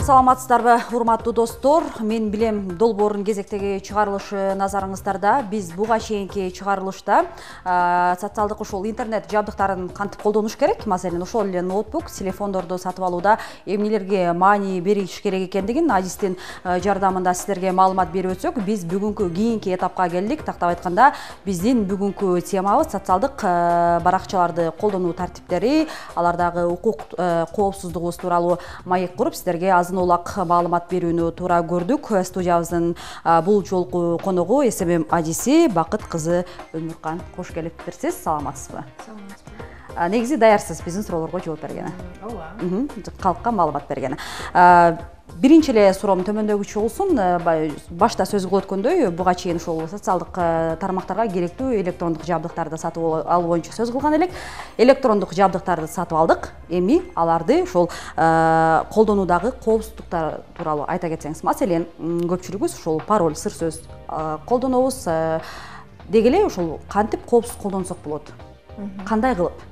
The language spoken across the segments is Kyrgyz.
Саламатсыздарбы, урматтуу достор. Мен билем долбоордун кезектеги чыгарылышы назарыңыздарда. Биз буга чейинки чыгарылышта социалдык ушул интернет жабдыктарын кантип колдонуш керек, маселен ошол эле ноутбук, телефондорду сатып алууда эмнелерге маани бериш керек экендигин Адистин жардамында сиздерге маалымат берип өтсөк, биз бүгүнкү кийинки этапка келдик. Тактап айтканда, биздин бүгүнкү темабыз социалдык баракчаларды колдонуу тартиптери, алардагы укук коопсуздугубуз тууралуу маек куруп, сиздерге азын улак маалымат берүүнү туура көрдүк. Студиябыздын бул жолку коногу СММ адиси Бакыт кызы Өмүркан. Кош келиптирсиз. Саламатсызбы? Саламатсызбы. Негизи даярсыз биздин суроолорго жооп бергени. Ооба. Калкка маалымат бергени. Биринчи эле суроом төмөндөгүчө болсун. Башта сөз кылып өткөндөй, буга чейин ушул социалдык тармактарга керектүү электрондук жабдыктарды сатып алуу боюнча сөз кылган элек. Электрондук жабдыктарды сатып алдык. Эми аларды ушул колдонуудагы коопсуздуктар тууралуу айта кетсеңиз. Маселен, көпчүлүгүбүз ушул пароль, сыр сөз колдонобуз. Деги эле ушул кантип коопсуз колдонсок болот? Кандай кылып?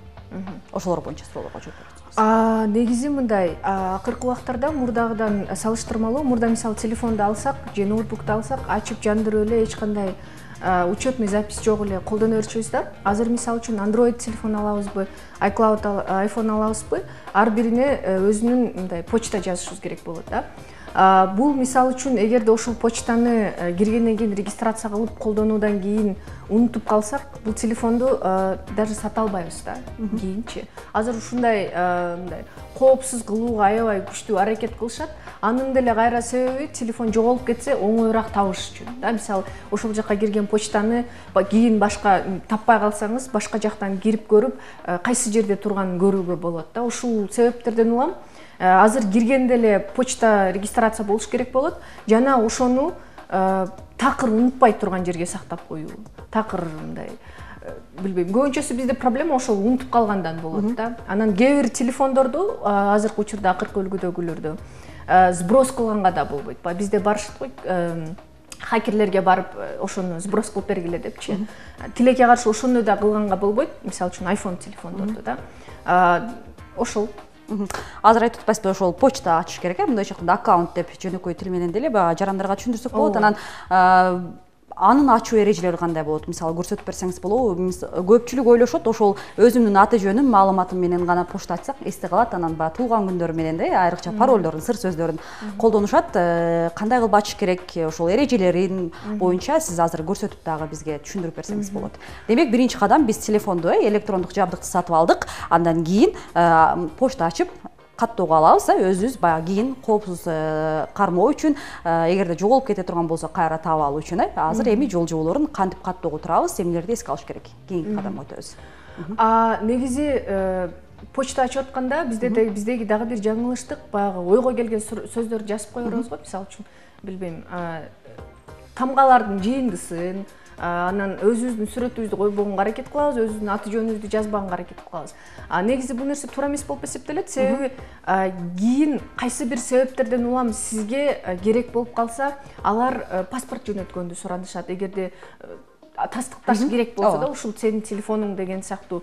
Ошолор боюнча суроолорго жооп бериңиз. Негизи мындай, акыркы убактарда мурдагыдан салыштырмалуу, мурда мисалы телефонду алсак же ноутбукту алсак, ачып жандырып эле эч кандай учетный запись жок эле колдоно берчүбүз да. Азыр мисалы үчүн Android телефон алабызбы, iCloud iPhone алабызбы, ар бирине өзүнүн мындай почта жазышыбыз керек болот да. Бул мисалы үчүн эгерде ошол почтаны киргенден кийин регистрация кылып колдонуудан кийин унутуп калсак, бул телефонду даже сата албайбыз да кийинчи. Азыр ушундай мындай коопсуз кылууга аябай күчтүү аракет кылышат. Анын деле кайра себеби телефон жоголуп кетсе оңоюраак табыш үчүн да. Мисалы ошол жакка кирген почтаны кийин башка таппай калсаңыз, башка жактан кирип көрүп, кайсы жерде турганын көрүүгө болот да. Ушул себептерден улам азыр киргенде эле почта регистрация болуш керек болот. Жана ошону такыр унутпай турган жерге сактап коюу. Такыр мындай билбейм, көбүнчөсү бизде проблема ошол унутуп калгандан болот да. Анан кээ бир телефондорду азыркы учурда акыркы үлгүдөгүлөрдү сброс кылганга да болбойт. Бизде барышат го хакерлерге барып ошону сброс кылып бергиле депчи. Тилекке каршы ошону да кылганга болбойт. Мисалы үчүн iPhone телефондорду да. Ошол азыр айтып атпайсызбы, ошол почта ачыш керек, мындайча айтканда аккаунт деп жөнөкөй тил менен деле жарандарга түшүндүрсөк болот. Анан анын ачуу эрежелери кандай болот? Мисалы көрсөтүп берсеңиз болобу? Көпчүлүк ойлошот, ошол өзүмдүн аты жөнүм, маалыматым менен гана почта ачсак эсте калат. Анан туулган күндөрү менен да, айрыкча паролдорун, сыр сөздөрүн колдонушат. Кандай кылып ачыш керек? Ошол эрежелерин боюнча сиз азыр көрсөтүп дагы бизге түшүндүрүп берсеңиз болот. Демек, биринчи кадам биз телефонду, электрондук жабдыкты сатып алдык. Андан кийин почта ачып каттоого алабыз, өзүбүз баягы кийин коопсуз кармоо үчүн, эгерде жоголуп кете турган болсо кайра таап алуу үчүн. Азыр эми жол жоболорун кантип каттоого турабыз, эмнелерди эске алыш керек? Кийинки кадамга өтөбүз. Негизи почта ачып атканда биздеги дагы бир жаңылыштык, баягы ойго келген сөздөрдү жазып кое беребиз го. Мисалы үчүн, билбейм, тамгалардын жыйындысын, анан өзүбүздүн сүрөтүбүздү койбогонго аракет кылабыз, өзүбүздүн аты жөнүбүздү жазбаганга аракет кылабыз. Негизи бул нерсе туура эмес болуп эсептелет, себеби кийин кайсы бир себептерден улам сизге керек болуп калса, алар паспорт жөнөткөндү суранышат. Эгерде тастыкташ керек болсо да, ушул сенин телефонуң деген сыяктуу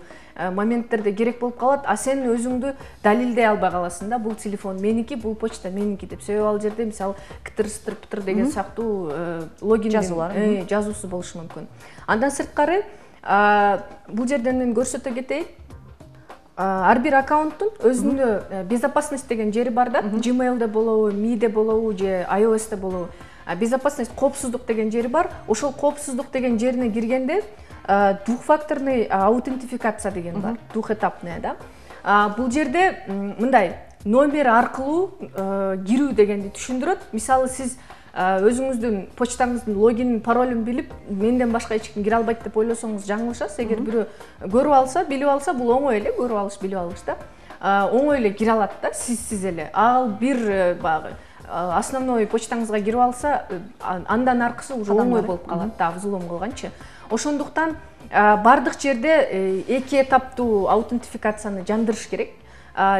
моменттерде керек болуп калат, а сен өзүңдү далилдей албай каласың да, бул телефон меники, бул почта меники деп. Себеби ал жерде мисалы ктр деген сыяктуу логин жазуусу болушу мүмкүн. Андан сырткары бул жерден мен көрсөтө кетейин. Ар бир аккаунттун өзүндө безопасность деген жери бар да. Gmail'де болобу, Mi'де болобу же iOS'те болобу. Безопасность, коопсуздук деген жери бар. Ошол коопсуздук деген жерине киргенде двухфакторный аутентификация деген бар. Двухэтапная да. Бул жерде мындай номер аркылуу кирүү дегенди түшүндүрөт. Мисалы сиз өзүңүздүн почтаңыздын логинин, паролун билип, менден башка эч ким кире албайт деп ойлосоңуз жаңылышасыз. Эгер бирөө көрүп алса, билип алса, бул оңой эле, көрүп алыш, билип алыш да. Оңой эле кире алат да, сиз эле. Ал бир багы основной почтаңызга кирип алса, андан аркысы уже оңой болуп калат да, взлом кылганчы. Ошондуктан бардык жерде эки этаптуу аутентификацияны жандырыш керек.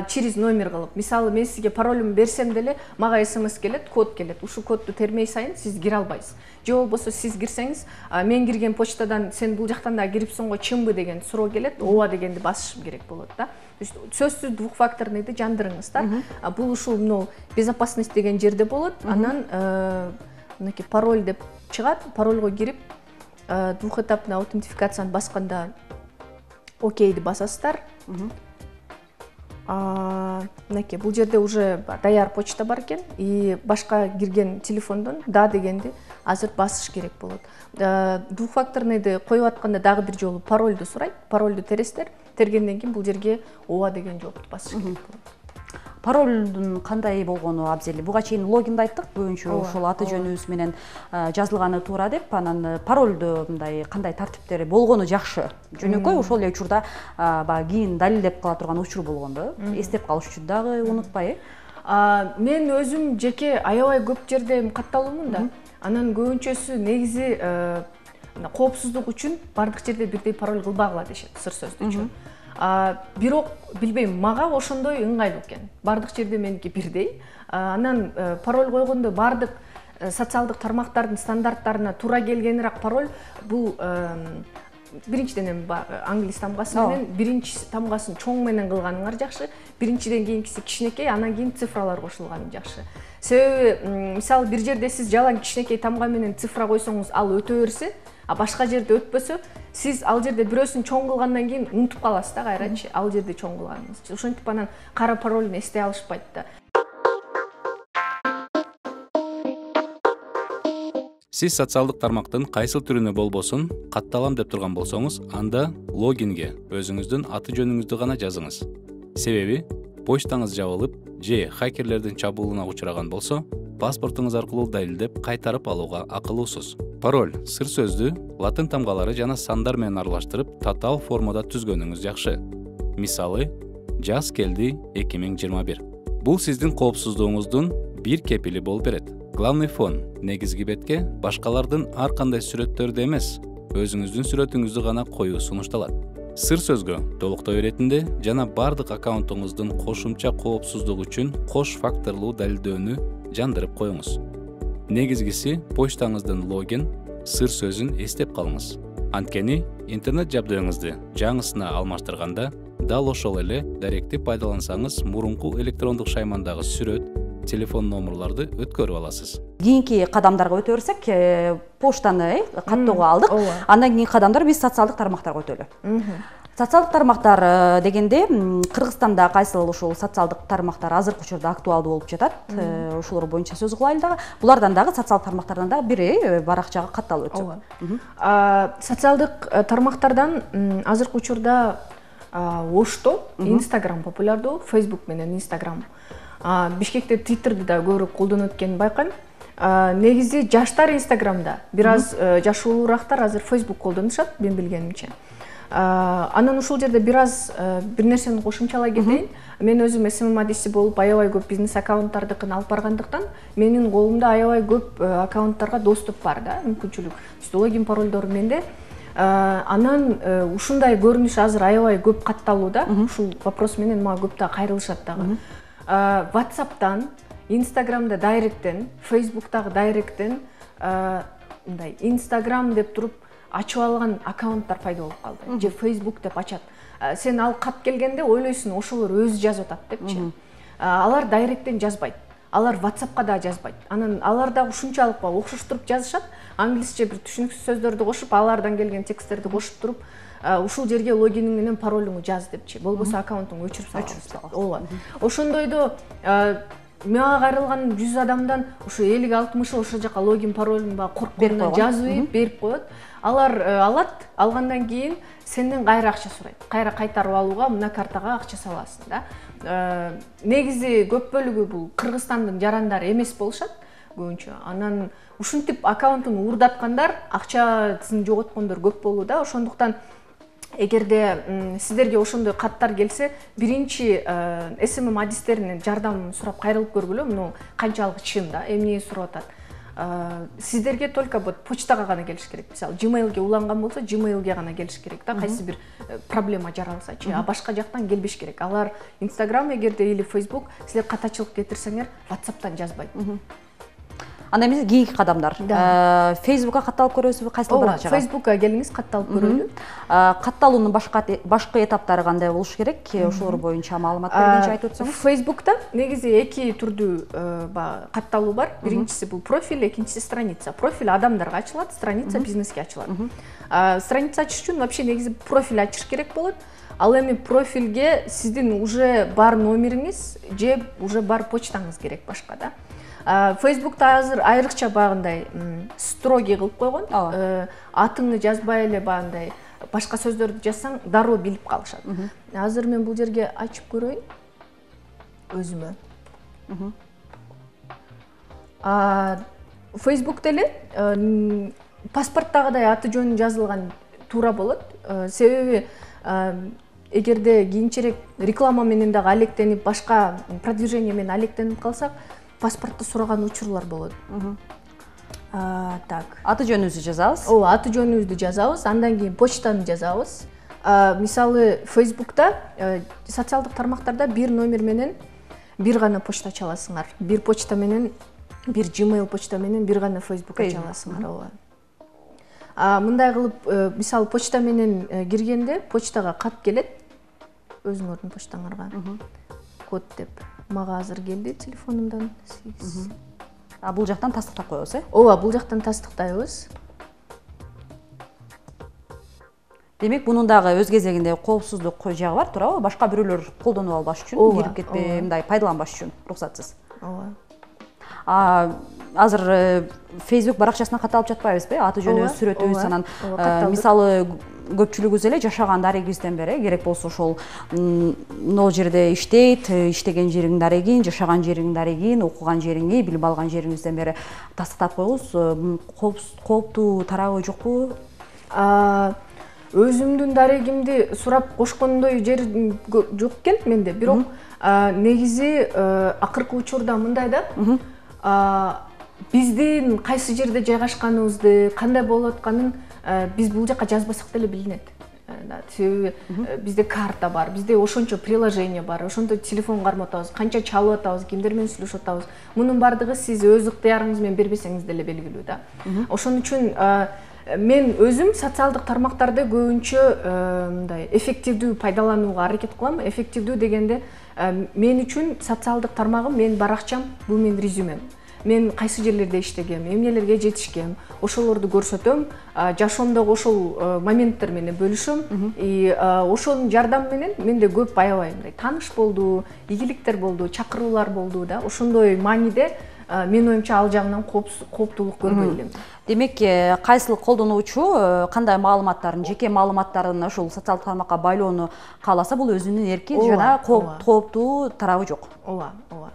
через номер кылып, мисалы мен сизге паролумду берсем деле мага смс келет, код келет. Ушул кодду термей сайын сиз кире албайсыз. Же болбосо сиз кирсеңиз, мен кирген почтадан сен бул жактан да кирипсиң го, чынбы деген суроо келет, ооба дегенди басышым керек болот да. Сөзсүз двухфакторныйды жандырыңыздар. Бул ушул мына безопасность деген жерде болот. Анан мынакей пароль деп чыгат. Парольго кирип, двухэтапный аутентификацияны басканда окейди басасыздар. Мынакей бул жерде уже даяр почта бар экен, и башка кирген телефондон да дегенди азыр басыш керек болот. Двухфакторныйды коюп атканда дагы бир жолу парольду сурайт. Парольду тересиздер. Тергенден кийин бул жерге ооба деген жоопту басыш керек болот. Паролдун кандай болгону абзел? Буга чейин логинди айттык, көбүнчө ошол аты жөнүбүз менен жазылганы туура деп, анан паролду мындай кандай тартиптери болгону жакшы. Жөнөкөй ошол эле учурда баягы кийин далилдеп кала турган учур болгондо, эстеп калыш үчүн дагы унутпай. Мен өзүм жеке аябай көп жерде катталуумун да. Анан көбүнчөсү негизи коопсуздук үчүн бардык жерде бирдей пароль кылбагыла дешет, сыр сөздү үчүн. Бирок билбейм, мага ошондой ыңгайлуу экен. Бардык жерде меники бирдей. Анан пароль койгондо бардык социалдык тармактардын стандарттарына туура келгенирээк пароль бул биринчиден эми англис тамгасы менен биринчи тамгасын чоң менен кылганыңар жакшы. Биринчиден кийинкиси кичинекей, анан кийин цифралар кошулганы жакшы. Себеби мисалы бир жерде сиз жалаң кичинекей тамга менен цифра койсоңуз ал өтө берсе, башка жерде өтпөсө, сиз ал жерде бирөөсүн чоң кылгандан кийин унутуп каласыз да кайрачы, ал жерде чоң кылганыңызды. Ошентип анан кара парольну эстей алышпайт да. Сиз социалдык тармактын кайсыл түрүнө болбосун катталам деп турган болсоңуз, анда логинге өзүңүздүн аты жөнүңүздү гана жазыңыз. Себеби почтаңыз жабылып же хакерлердин чабуулуна учураган болсо, паспортуңуз аркылуу далилдеп кайтарып алууга акылуусуз. Пароль, сыр сөздү латын тамгалары жана сандар менен аралаштырып татаал формада түзгөнүңүз жакшы. Мисалы, жаз келди 2021. Бул сиздин коопсуздугуңуздун бир кепили болуп берет. Главный фон негизги бетке башкалардын ар кандай сүрөттөрдү эмес, өзүңүздүн сүрөтүңүздү гана коюу сунушталат. Сыр сөзгө толуктой иретинде жана бардык аккаунтуңуздун кошумча коопсуздук үчүн кош факторлуу далилдөөнү жандырып коюңуз. Негизгиси почтаңыздын логин, сыр сөзүн эстеп калыңыз. Анткени интернет жабдыгыңызды жаңысына алмаштырганда дал ошол эле даректи пайдалансаңыз мурунку электрондук шаймандагы сүрөт, телефон номерларды өткөрүп аласыз. Кийинки кадамдарга өтө берсек, поштаны каттоого алдык. Андан кийинки кадамдар биз социалдык тармактарга өтөлү. Социалдык тармактар дегенде Кыргызстанда кайсыл ушул социалдык тармактар азыркы учурда актуалдуу болуп жатат. Ошолор боюнча сөз кылайлы дагы. Булардан дагы социалдык тармактардан дагы бири баракчага катталып өтсөк. Социалдык тармактардан азыркы учурда Ошто, Instagram популярдуу, Facebook менен Instagram. Бишкекте Twitter'ды да көбүрөөк колдонуп эткенин байкайм. Негизи жаштар Instagram'да, бир аз жашуулуурактар азыр Facebook колдонушат, мен билгенимче. Анан ушул жерде бир аз бир нерсени кошумчалай кетейин. Мен өзүм SMM адиси болуп аябай көп бизнес аккаунттардыкын алып баргандыктан, менин колумда аябай көп аккаунттарга доступ бар да, мүмкүнчүлүк. Логин парольдор менде. Анан ушундай көрүнүш азыр аябай көп катталууда. Ушул вопрос менен мага көп да кайрылышат дагы. WhatsApp'тан, Instagram'да дайректтен, Facebook'тагы дайректтен мындай Instagram деп туруп ачып алган аккаунттар пайда болуп калды. Же Facebook деп ачат. Сен ал кат келгенде ойлойсуң, ошолор өзү жазып атат депчи. Алар дайректтен жазбайт. Алар WhatsApp'ка да жазбайт. Анан алар да ушунчалык окшоштуруп жазышат. Англисче бир түшүнүксүз сөздөрдү кошуп, алардан келген тексттерди кошуп туруп, ушул жерге логиниң менен паролуңду жаз депчи. Болбосо аккаунтуңду өчүрүп саласың. Ооба. Ошондойдо мага кайрылган 100 адамдан ушу 50-60 ошол жака логин паролун коркконунан жазып берип коет. Алар алат, алгандан кийин сенден кайра акча сурайт. Кайра кайтарып алууга мына картага акча саласың да. Негизи көп бөлүгү бул Кыргызстандын жарандары эмес болушат көбүнчө. Анан ушинтип аккаунтун уурдаткандар, акчасын жоготкондор көп болууда. Ошондуктан эгерде сиздерге ошондой каттар келсе, биринчи SMM адистеринен жардам сурап кайрылып көргүлө. Муну канчалык чын да, эмне сурап атат. сиздерге только вот почтага гана келиш керек. Мисалы Gmailге уланган болсо Gmailге гана келиш керек да, кайсы бир проблема жаралсачы, а башка жактан келбеш керек. Алар Instagram эгерде или Facebook силер катачылык кетирсеңер WhatsApp'тан жазбайт. Анда эмес кийинки кадамдар. Facebook'ка катталып көрөсүзбү, кайсыл баракчага? Facebook'ка келиңиз, катталып көрөлү. Катталуунун башкы этаптары кандай болуш керек? Ошолор боюнча маалымат бергенче айтып өтсөңүз. Facebook'та негизи эки түрдүү катталуу бар. Биринчиси бул профиль, экинчиси страница. Профиль адамдарга ачылат, страница бизнеске ачылат. Страница ачыш үчүн вообще негизи профиль ачыш керек болот. Ал эми профилге сиздин уже бар номериңиз же уже бар почтаңыз керек башка да. Facebook'та азыр айрыкча багындай строгий кылып койгон. Атыңды жазбай эле багындай башка сөздөрдү жазсаң дароо билип калышат. Азыр мен бул жерге ачып көрөйүн өзүмө. Facebook'та эле паспорттагыдай аты жөнү жазылган туура болот. Себеби эгерде кийинчерээк реклама менен дагы алектенип, башка продвижение менен алектенип калсак, паспортто сураган учурлар болот. Так. Аты жөнүбүздү жазабыз. Ооба, аты жөнүбүздү жазабыз, андан кийин почтаны жазабыз. Мисалы Facebook'та социалдык тармактарда бир номер менен бир гана почта ача аласыңар. Бир почта менен, бир Gmail почта менен бир гана Facebook ача аласыңар. Ооба. Мындай кылып, мисалы почта менен киргенде почтага кат келет өзүңөрдүн почтаңарга. Код деп. Мага азыр келди телефонумдан. Бул жактан тастыктап коебуз, Ооба, бул жактан тастыктайбыз. Демек, бунун дагы өз кезегинде коопсуздук жагы бар, туурабы? Башка бирөөлөр колдонуп албаш үчүн, кирип кетпей, мындай пайдаланбаш үчүн уруксатсыз. Ооба. Азыр Facebook баракчасына катталып жатпайбызбы? Аты жөнүбүз, сүрөтүбүз, анан мисалы көпчүлүгүбүз эле жашаган дарегибизден бери керек болсо ошол могул жерде иштейт, иштеген жериңдин дарегин, жашаган жериңдин дарегин, окуган жериңи, билим алган жериңизден бери тастыктап коюңуз. Кооптуу тарабы жокпу? Өзүмдүн дарегимди сурап кошкондой жер жок экен менде, бирок негизи акыркы учурда мындай да, биздин кайсы жерде жайгашканыбызды, кандай болуп атканын биз бул жака жазбасак деле билинет. Себеби бизде карта бар, бизде ошончо приложение бар, ошондо телефон кармап атабыз, канча чалып атабыз, кимдер менен сүйлөшүп атабыз. Мунун бардыгы сиз өз ыктыярыңыз менен бербесеңиз деле белгилүү да. Ошон үчүн мен өзүм социалдык тармактарды көбүнчө мындай эффективдүү пайдаланууга аракет кылам. Эффективдүү дегенде мен үчүн социалдык тармагым, менин баракчам, бул менин резюмем. Мен кайсы жерлерде иштегем, эмнелерге жетишкем, ошолорду көрсөтөм, жашоомдогу ошол моменттер менен бөлүшөм. Ошонун жардамы менен менде көп аябай мындай тааныш болду, ийгиликтер болду, чакыруулар болду да. Ошондой мааниде менин оюмча ал жагынан кооптуулук көрбөй элем. Демек, кайсыл колдонуучу кандай маалыматтарын, жеке маалыматтарын ошол социалдык тармакка байлоону кааласа, бул өзүнүн эрки жана кооптуу тарабы жок. Ооба, ооба.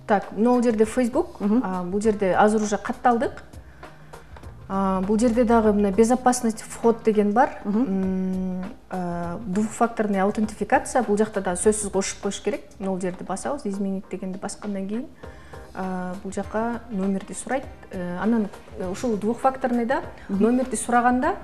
Так, могул жерде Facebook, бул жерде азыр уже катталдык. Бул жерде дагы мына безопасность вход деген бар. Двухфакторный аутентификация, бул жакта да сөзсүз кошуп коюш керек. Могул жерди басабыз, изменить дегенди баскандан кийин бул жака номерди сурайт. Анан ушул двухфакторныйда номерди сураганда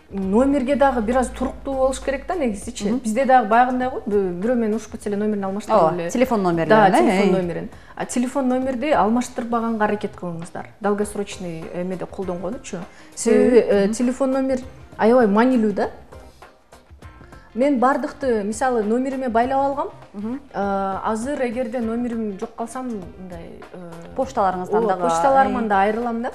номерге дагы бир аз туруктуу болуш керек да негизичи. Бизде дагы баягындай го, бирөө менен урушуп кетсе эле номерин алмаштырып эле. Телефон номерин. Да, телефон номерин. Телефон номерди алмаштырбаганга аракет кылыңыздар. Долгосрочный эмеде колдонгонучу. Себеби телефон номер аябай маанилүү да. Мен бардыкты, мисалы, номериме байлап алгам. Азыр эгерде номерим жок калсам, мындай почталарыңыздан дагы, почталарымдан да айрылам да.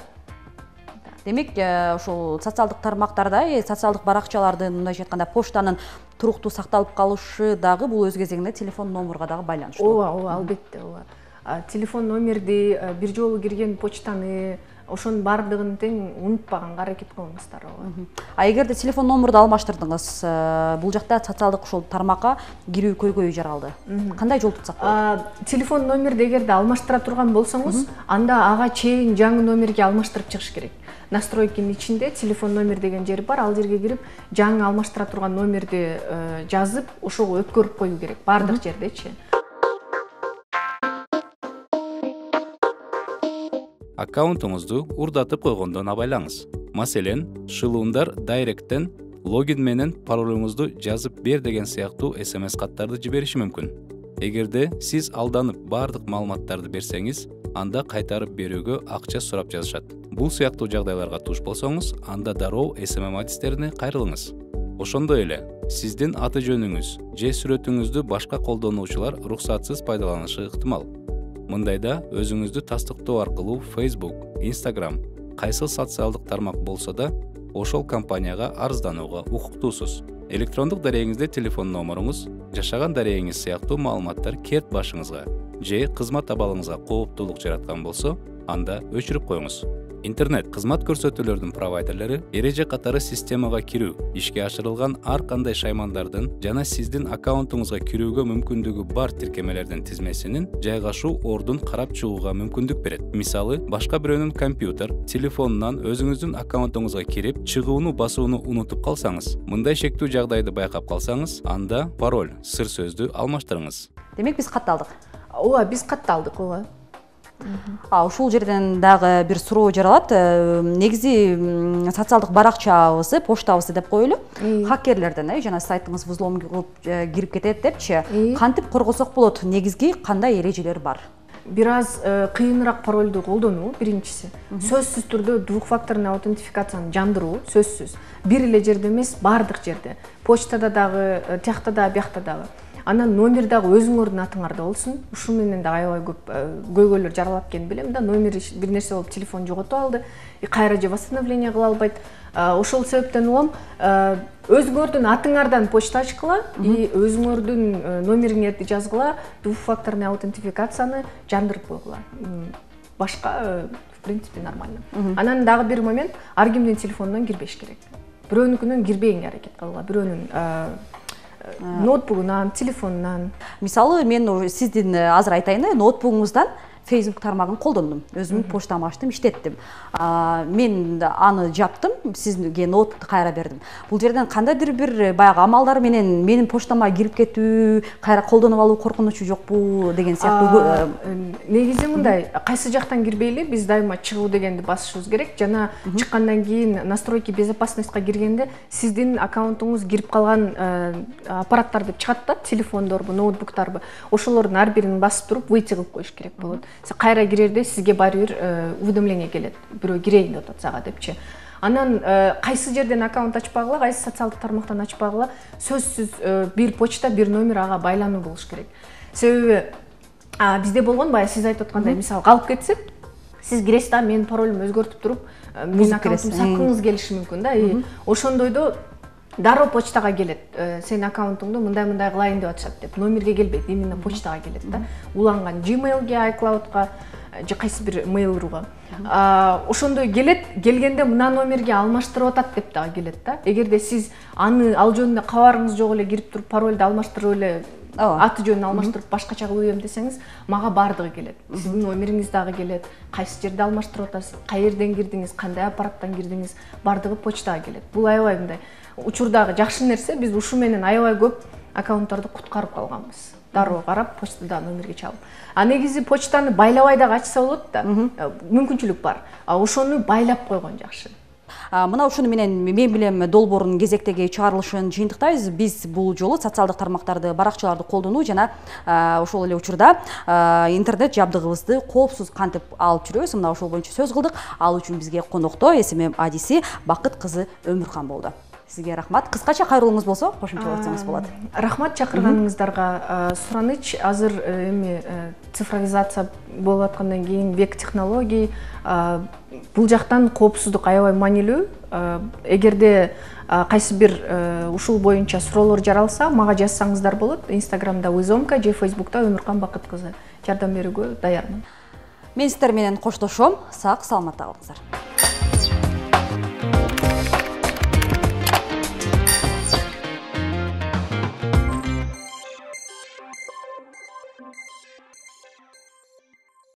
Демек, ошол социалдык тармактарда, социалдык баракчалардын, мындайча айтканда, почтанын туруктуу сакталып калышы дагы бул өз кезегинде телефон номерге дагы байланыштуу. Ооба, албетте, ооба. Телефон номерди, бир жолу кирген почтаны, ошонун бардыгын тең унутпаганга аракет кылыңыздар. Эгерде телефон номерди алмаштырдыңыз, бул жакта социалдык ошол тармакка кирүү көйгөйү жаралды. Кандай жол тутсак болот? Телефон номерди эгерде алмаштыра турган болсоңуз, анда ага чейин жаңы номерге алмаштырып чыгыш керек. настройкинин ичинде телефон номер деген жери бар. Ал жерге кирип, жаңы алмаштыра турган номерди жазып, ошого өткөрүп коюу керек баардык жердечи. Аккаунтуңузду урдатып койгондон абайлаңыз. Маселен, шылуундар дайректтен логин менен паролуңузду жазып бер деген сыяктуу SMS каттарды жибериши мүмкүн. Эгерде сиз алданып баардык маалыматтарды берсеңиз, анда кайтарып берүүгө акча сурап жазышат. Бул сыяктуу жагдайларга туш болсоңуз, анда дароо SMM адистерине кайрылыңыз. Ошондой эле, сиздин аты жөнүңүз же сүрөтүңүздү башка колдонуучулар уруксатсыз пайдаланышы ыктымал. Мындайда өзүңүздү тастыктоо аркылуу Facebook, Instagram, кайсыл социалдык тармак болсо да, ошол компанияга арызданууга укуктуусуз. Электрондук дарегиңизде телефон номеруңуз, жашаган дарегиңиз сыяктуу маалыматтар керт башыңызга же кызмат абалыңызга кооптуулук жараткан болсо, анда өчүрүп коюңуз. Интернет кызмат көрсөтүүлөрдүн провайдерлери эреже катары системага кирүү, ишке ашырылган ар кандай шаймандардын жана сиздин аккаунтуңузга кирүүгө мүмкүндүгү бар тиркемелердин тизмесинин жайгашуу ордун карап чыгууга мүмкүндүк берет. Мисалы, башка бирөөнүн компьютер, телефонунан өзүңүздүн аккаунтуңузга кирип, чыгууну басууну унутуп калсаңыз, мындай шектүү жагдайды байкап калсаңыз, анда пароль, сыр сөздү алмаштырыңыз. Демек биз катталдык. Ооба, биз катталдык, ооба. Ушул жерден дагы бир суроо жаралат. Негизи социалдык баракчабызды, почтабызды деп коелу. Хакерлерден, жана сайтыңыз взлом кылып кирип кетет депчи. Кантип коргосок болот? Негизги кандай эрежелер бар? Бир аз кыйыныраак паролду колдонуу биринчиси. Сөзсүз түрдө двухфакторный аутентификацияны жандыруу, сөзсүз. Бир эле жерде эмес, баардык жерде. Почтада дагы, тиякта дагы, биякта дагы. Анан номер дагы өзүңөрдүн атыңарда болсун. Ушул менен да аябай көп көйгөйлөр жаралат экенин билем да. Номер бир нерсе болуп телефон жоготуп алды, кайра же восстановление кыла албайт. Ошол себептен улам өзүңөрдүн атыңардан почта ачкыла, өзүңөрдүн номериңерди жазгыла, двухфакторный аутентификацияны жандырып койгула. Башка в принципе нормально. Анан дагы бир момент, ар кимдин телефонунан кирбеш керек. Бирөөнүкүнөн кирбегенге аракет кылгыла. Бирөөнүн ноутбугунан, телефонунан. Мисалы, мен сиздин азыр айтайын, ноутбугуңуздан Facebook тармагын колдондум. Өзүмдүн почтамды ачтым, иштеттим. Мен аны жаптым, сизге ноутбукту кайра бердим. Бул жерден кандайдыр бир баягы амалдар менен менин почтама кирип кетүү, кайра колдонуп алуу коркунучу жокпу деген сыяктуу. Негизи мындай, кайсы жактан кирбейли, биз дайыма чыгуу дегенди басышыбыз керек. Жана чыккандан кийин настройки безопасностька киргенде сиздин аккаунтуңуз кирип калган аппараттар деп чыгат да, телефондорбу, ноутбуктарбы. Ошолордун ар бирин басып туруп выйти кылып коюш керек болот. Кайра кирерде сизге баары бир уведомление келет. Бирөө кирейин деп атат сага депчи. Анан кайсы жерден аккаунт ачпагыла, кайсы социалдык тармактан ачпагыла, сөзсүз бир почта, бир номер ага байлануу болуш керек. Себеби бизде болгон, бая сиз айтып аткандай, мисалы калып кетсек, сиз киресиз да, менин паролумду өзгөртүп туруп, менин аккаунтумду саткыңыз келиши мүмкүн да. Ошондойдо дароо почтага келет. Сенин аккаунтуңду мындай кылайын деп атышат деп. Номерге келбейт, именно почтага келет да. Уланган Gmail'ге, iCloud'га же кайсы бир mail.ru-га. Ошондой келет, келгенде мына номерге алмаштырып атат деп дагы келет да. Эгерде сиз аны ал жөнүндө кабарыңыз жок эле кирип туруп паролду алмаштырып эле, аты жөнүн алмаштырып башкача кылып десеңиз, мага баардыгы келет. Сиздин номериңиз дагы келет, кайсы жерде алмаштырып атасыз, каерден кирдиңиз, кандай аппараттан кирдиңиз, баардыгы почтага келет. Бул аябай мындай учурдагы жакшы нерсе, биз ушу менен аябай көп аккаунттарды куткарып калганбыз. Дароо карап, почтада номерге чалып. Негизи почтаны байлабай дагы ачса болот да. Мүмкүнчүлүк бар. Ошону байлап койгон жакшы. Мына ушуну менен мен билем долбоордун кезектеги чыгарылышын жыйынтыктайбыз. Биз бул жолу социалдык тармактарды, баракчаларды колдонуу жана ошол эле учурда интернет жабдыгыбызды коопсуз кантип алып жүрөбүз, мына ошол боюнча сөз кылдык. Ал үчүн бизге конокто SMM адиси Бакыт кызы Өмүркан болду. Сизге рахмат. Кыскача кайрылууңуз болсо, кошумчаласаңыз болот. Рахмат чакырганыңыздарга. Сураныч азыр эми цифровизация болуп аткандан кийин век технологий, бул жактан коопсуздук аябай маанилүү. Эгерде кайсы бир ушул боюнча суроолор жаралса, мага жазсаңыздар болот. Instagramда Вызомка же Facebook'та Өмүркан Бакыт кызы жардам берүүгө даярмын. Мен сиздер менен коштошом. Сак, саламатта калыңыздар.